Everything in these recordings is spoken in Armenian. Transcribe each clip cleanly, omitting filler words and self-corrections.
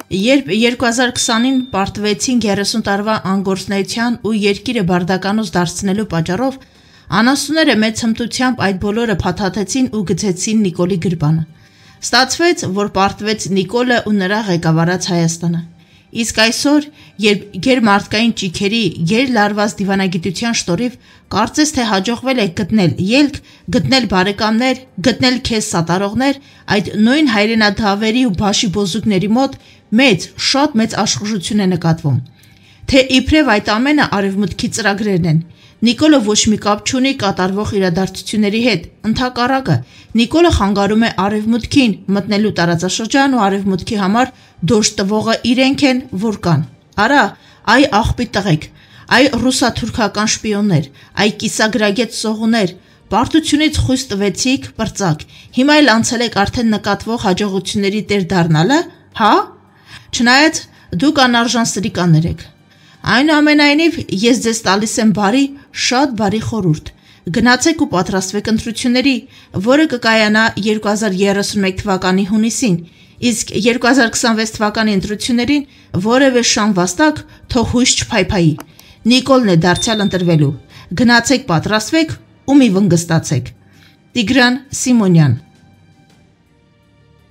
Երբ 2020-ին պարտվեցին 30 տարվա անգործնայության ու երկիրը բարդականոց դարձնելու պատճառով, անասունները մեծ հմտությամբ այդ բոլորը փաթաթեցին ու գցեցին Նիկոլի գրպանը։ Ստացվեց, որ պարտվեց Նիկոլը ու նրա ղեկավարած Հայաստանը։ Իսկ այսօր, երբ գերմարտկային ճիգերի, գերլարված դիվանագիտության շտորիվ կարծես թե հաջողվել է գտնել ելք, գտնել բարեկամներ, գտնել քեզ սատարողներ, այդ նույն հայրենադավերի ու բաշի բոզուկների մոտ շատ մեծ աշխուժություն է նկատվում։ Թե իբրև այդ ամենը արևմուտքի ծրագրերն են։ Նիկոլը ոչ մի կապ չունի կատարվող իրադարձությունների հետ, ընդհակառակը, Նիկոլը խանգարում է արևմուտքին մտնելու տարածաշրջան ու արևմուտքի համար դոժ տվողը իրենք են, որ կան։ Արա, այ աղբի տղեկ, այ ռուսա-թուրքական շպիոններ, այ կիսագրագետ սողուներ, պարտությունից խույս տվեցիք, պրծակ, հիմա էլ անցել եք արդեն նկատվող հաջողությունների տեր դառնալը, հա։ Չնայած դուք անարժան սրիկաներ եք։ Այնուամենայնիվ, ես ձեզ տալիս եմ շատ բարի խորհուրդ։ Գնացեք ու պատրաստվեք ընտրությունների, որը կկայանա 2031 թվականի հունիսին, իսկ 2026 թվականի ընտրություններին որևէ շան վաստակ թող հույս չփայփայի։ Նիկոլն է դարձյալ ընտրվելու։ Գնացեք պատրաստվեք ու մի վնգստացեք։ Տիգրան Սիմոնյան։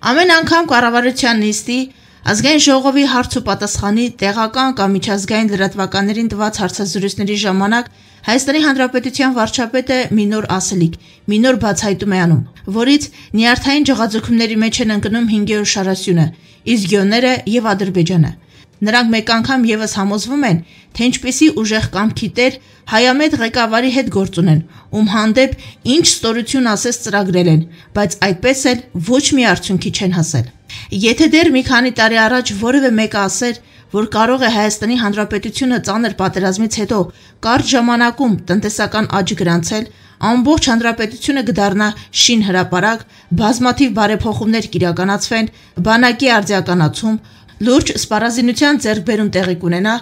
Ամեն անգամ կառավարության նիստի, ազգային ժողովի հարց ու պատասխանի, տեղական կամ միջազգային լրատվականներին տված հարցազրույցների ժամանակ Հայաստանի Հանրապետության վարչապետը մի նոր ասելիք, մի նոր բացահայտում է անում, որից նյարդային ջղաձգումների մեջ են ընկնում 5-րդ շարասյունը, Իզգյոնները եւ Ադրբեջանը։ Նրանք մեկ անգամ եւս համոզվում են, թե ինչպիսի ուժեղ կամքի տեր հայամետ ղեկավարի հետ գործ ունեն, ում հանդեպ ինչ ստորություն ասես ծրագրել են, բայց այդպես էլ ոչ մի արդյունքի չեն հասել։ Եթե դեռ մի քանի տարի առաջ որևէ մեկը ասեր, որ կարող է Հայաստանի Հանրապետությունը ծանր պատերազմից հետո կարճ ժամանակում տնտեսական աճ գրանցել, ամբողջ հանրապետությունը կդառնա շին հրապարակ, բազմաթիվ բարեփոխումներ կիրականացվեն, բանակի արձիականացում, լուրջ սպառազինության ձեռքբերում տեղի կունենա,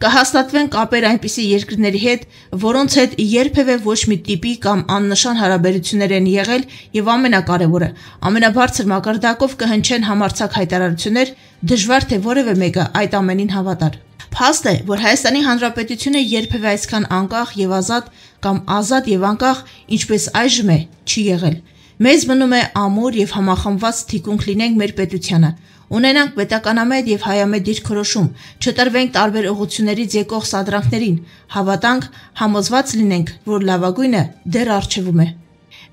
կհաստատվեն կապեր այնպիսի երկրների հետ, որոնց հետ երբևէ ոչ մի տիպի կամ աննշան հարաբերություններ են եղել եւ ամենակարևորը, ամենաբարձր մակարդակով կհնչեն համարձակ հայտարարություններ, դժվար թե որևէ մեկը այդ ամենին հավատար։ Փաստ է, որ Հայաստանի Հանրապետությունը երբևէ այսքան անկախ եւ ազատ կամ ազատ եւ անկախ, ինչպես այժմ է, չի եղել։ Մեզ մնում է ամուր եւ համախմբված թիկունք լինենք մեր պետությանը, ունենանք պետականամետ եւ հայամետ դիրքորոշում, չտրվենք տարբեր ուղղություններից եկող սադրանքներին, հավատանք, համոզված լինենք, որ լավագույնը դեռ առջևում է։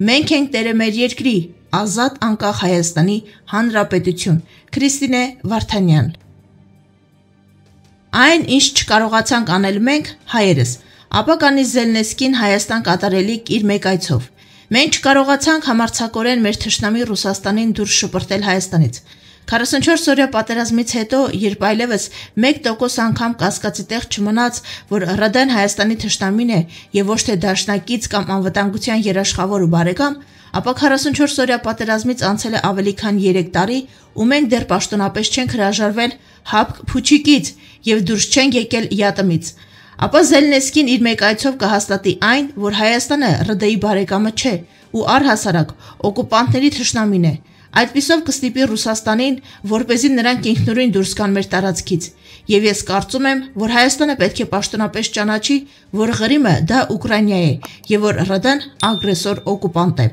Մենք ենք տերը մեր երկրի, ազատ անկախ Հայաստանի Հանրապետություն։ Քրիստինե Վարդանյան։ Այն, ինչ չկարողացանք անել մենք, հայերս, ապա կանի Զելնեսկին Հայաստան կատարելիք իր մեկ այցով։ Մենք չկարողացանք համարձակորեն մեր թշնամի Ռուսաստանին դուրս շպրտել Հայաստանից։ 44-օրյա պատերազմից հետո, երբ այլևս 1% անգամ կասկածի տեղ չմնաց, որ ՌԴ-ն Հայաստանի թշնամին է եւ ոչ թե դաշնակից կամ անվտանգության երաշխավոր ու բարեկամ, ապա 44-օրյա պատերազմից անցել է ավելի քան 3 տարի, ու մենք դեռ պաշտոնապես չենք հրաժարվել հապկ փուչիկից եւ դուրս չենք եկել յատմից։ Ապա Զելնեսկին իր մեկ այցով կհաստատի այն, որ Հայաստանը ՌԴ-ի բարեկամը չէ ու առհասարակ օկուպանտների թշնամին է։ Այդպիսով կստիպի Ռուսաստանին, որպեսզի նրանք ինքնուրույն դուրս գան մեր տարածքից։ Եվ ես կարծում եմ, որ Հայաստանը պետք է պաշտոնապես ճանաչի, որ Ղրիմը դա Ուկրաինա է եւ որ ՌԴ-ն ագրեսոր օկուպանտ է։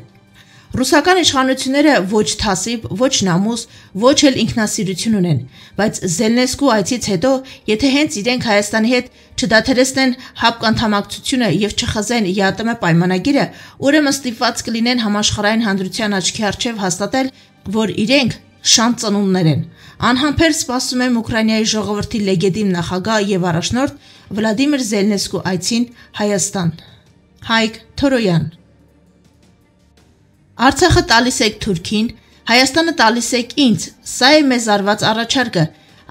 Ռուսական իշխանությունները ոչ թասիբ, ոչ նամուս, ոչ էլ ինքնասիրություն ունեն, բայց Զելնեսկու այցից հետո, եթե հենց իրենք Հայաստանի հետ չդադարեցնեն հապկանդամակցությունը եւ չխզեն ԵԱՏՄ պայմանագիրը, ուրեմն ստիպված կլինեն համաշխարհային հանրության աչքի առջև հաստատել, որ իրենք շան ծնունդներ են։ Անհամբեր սպասում եմ Ուկրաինայի ժողովրդի լեգիտիմ նախագահ եւ առաջնորդ Վլադիմիր Զելնեսկու այցին Հայաստան։ Հայկ Թորոյան։ Արցախը տալիս եք Թուրքին, Հայաստանը տալիս եք ինձ, սա է մեզ արված առաջարկը։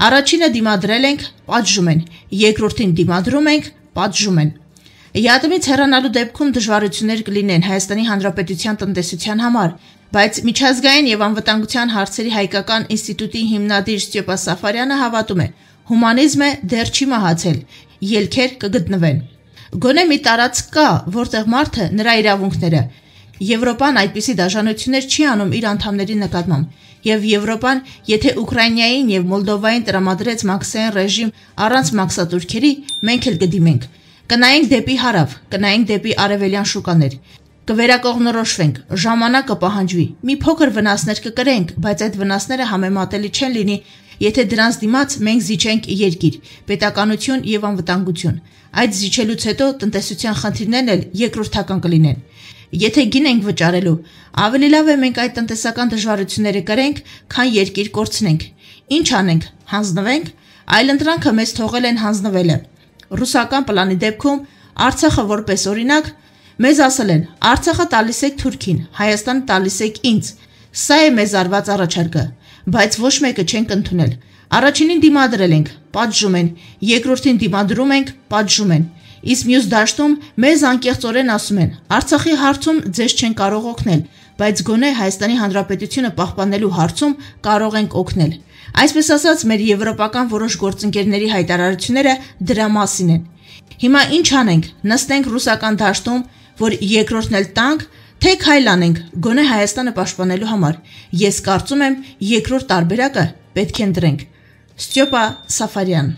Առաջինը դիմադրել ենք, պատժում են, երկրորդին դիմադրում ենք, պատժում են։ ԵԱՏՄ-ից հեռանալու դեպքում դժվարություններ կլինեն Հայաստանի Հանրապետության տնտեսության համար, բայց միջազգային եւ անվտանգության հարցերի հայկական ինստիտուտի հիմնադիր Ստյեպա Սաֆարյանը հավատում է, հումանիզմը դեռ չի մահացել, ելքեր կգտնվեն։ Գոնե մի տարածք կա, որտեղ մարդը նրա իրավունքները Եվրոպան այդպիսի դաժանություններ չի անում իր անդամների նկատմամբ, եւ Եվրոպան, եթե Ուկրաինային եւ Մոլդովային տրամադրեց մաքսային ռեժիմ առանց մաքսատուրքերի, մենք էլ կդիմենք։ Կնայենք դեպի հարավ, կնայենք դեպի արևելյան շուկաներ։ Կվերակողմնորոշվենք, ժամանակը պահանջվի, մի փոքր վնասներ կկրենք, բայց այդ վնասները համեմատելի չեն լինի, եթե դրանց դիմաց մենք զիջենք երկիր, պետականություն եւ անվտանգություն։ Այդ զիջելուց հետո տնտեսության խնդիրներն էլ երկրորդական կլինեն։ Եթե գին ենք վճարելու, ավելի լավ է մենք այդ տնտեսական դժվարությունները կրենք, քան երկիր կորցնենք։ Ինչ անենք, հանձնվենք, այլընտրանքը մեզ թողել են հանձնվելը։ Ռուսական պլանի դեպքում Արցախը որպես օրինակ մեզ ասել են. Արցախը տալիս եք Թուրքին, Հայաստանը տալիս եք ինձ։ Սա է մեզ արված առաջարկը, բայց ոչ մեկը չենք ընդունել։ Առաջինին դիմադրել ենք, պատժում են, երկրորդին դիմադրում ենք, պատժում են։ Իսկ մյուս դաշտում մեզ անկեղծորեն ասում են. Արցախի հարցում ձեզ չեն կարող օգնել, բայց գոնե Հայաստանի Հանրապետությունը պահպանելու հարցում կարող ենք օգնել։ Այսպես ասած, մեր եվրոպական որոշ գործընկերների հայտարարությունները դրա մասին են։ Հիմա ինչ անենք, նստենք ռուսական դաշտում, որ երկրորդն էլ տանք, թե քայլ անենք, գոնե Հայաստանը պաշտպանելու համար։ Ես կարծում եմ, երկրորդ տարբերակը պետք է ընտրենք։ Ստյոպա Սաֆարյան